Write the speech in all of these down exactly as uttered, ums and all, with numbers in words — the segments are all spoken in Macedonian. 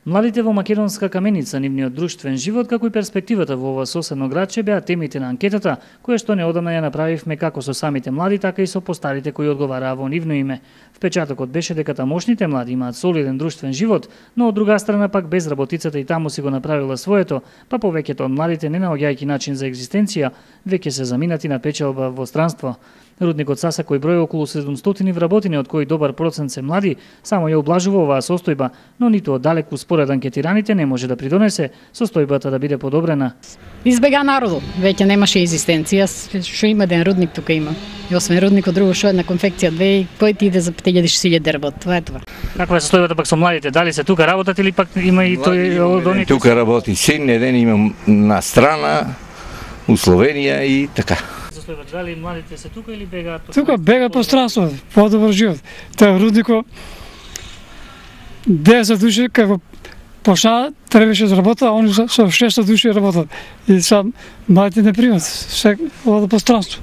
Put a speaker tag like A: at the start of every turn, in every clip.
A: Младите во Македонска Каменица, нивниот друштвен живот, како и перспективата во ова соседно градче беа темите на анкетата, која што неодамна ја направивме како со самите млади, така и со постарите кои одговараа во нивно име. Впечатокот беше дека тамошните млади имаат солиден друштвен живот, но од друга страна пак безработицата и таму си го направила своето, па повеќето од младите не наоѓајќи начин за екзистенција, веќе се заминати на печалба во странство. Рудникот Саса, кој брои околу седумстотини вработени, од кои добар процент се млади, само ја облажува оваа состојба, но ниту оддалеку според анкетираните не може да придонесе состојбата да биде подобрена.
B: Избега народот, веќе немаше екзистенција, што има ден рудник тука има. И освен рудникот друго што една конфекција две, кој ти иде за пет илјади работ, това е тоа.
A: Каква е состојбата пак со младите? Дали се тука работат или пак има и тој од оните?
C: Тука работи син ден, имам на страна, у Словенија и така.
A: Дали младите се тука или бегаат?
D: Тука бега по странство, подобар живот. Тоа руднико десет души како почна требаше да работат, а они со шест души работат. И сам младите не примат, се ода по странство.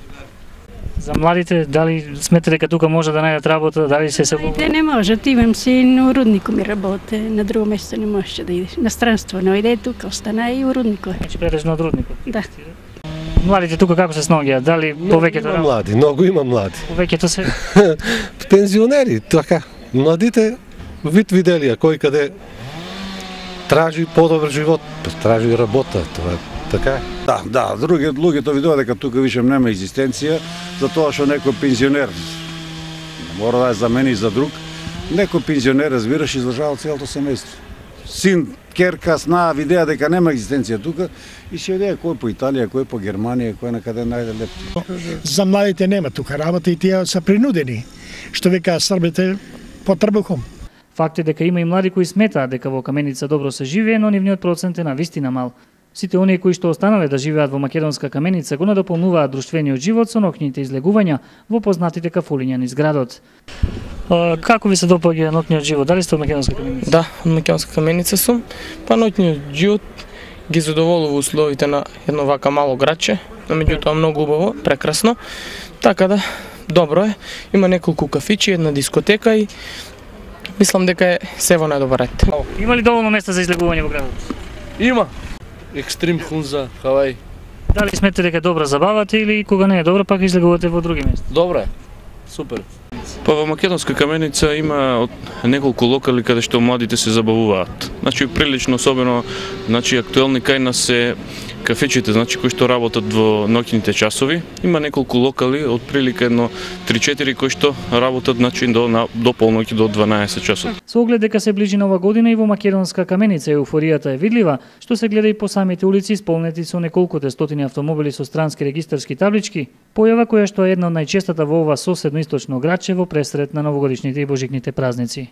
A: За младите, дали сметате дека тука може да најдат работа, дали се се
E: Младите не можат, имам син у руднику ми работе, на друго место не можеше да идеш. На странство, но иде тука, остана и у руднику.
A: Значи претежно од рудникот.
E: Да.
A: Младите тука како се снаоѓаат? Дали повеќето
F: има млади, многу има млади.
A: Повеќето се
F: Пензионери, така. Младите вид виделија кој каде тражи подобар живот, тражи работа, тоа така.
G: Да, да, други луѓето видува дека тука више нема екзистенција, затоа што некој пензионер мора да ја замени за друг. Некој пензионер, разбираш, издржава целото семејство. Син, керка, сна, видеа дека нема екзистенција тука и се одеа кој по Италија, кој по Германија, кој накаде најде лепти.
H: За младите нема тука работа и тие се принудени, што века србите по трбухом.
A: Факт е дека има и млади кои сметаат дека во Каменица добро се живее, но нивниот процент е навистина мал. Сите оние кои што останале да живеат во Македонска Каменица го надополнуваат друштвениот живот со ноќните излегувања во познатите кафулиња низ градот. А, како ви се допаѓа ноќниот живот? Дали сте од Македонска Каменица?
I: Да, од Македонска Каменица сум. Па ноќниот живот ги задоволува условите на едно вака мало градче, но меѓутоа многу убаво, прекрасно. Така да, добро е. Има неколку кафичи, една дискотека и мислам дека е се во најдобар ред.
A: Има ли доволно места за излегување во градот?
J: Има. Екстрим Хунза, Хавај.
A: Дали сметате дека е добра забавата или кога не е добра пак излегувате во други места?
J: Добра е. Супер.
K: Па во Македонска Каменица има од неколку локали каде што младите се забавуваат. Значи прилично особено, значи актуелни кај нас се кафечите, значи кои што работат во ноќните часови. Има неколку локали, од прилика едно три-четири кои што работат значи до на, до полноќ до дванаесет часот.
A: Со оглед дека се ближи нова година и во Македонска Каменица еуфоријата е видлива, што се гледа и по самите улици исполнети со неколкуте стотини автомобили со странски регистарски таблички, појава која што е една од најчестата во ова соседно источно градче во пресрет на новогодишните и божикните празници.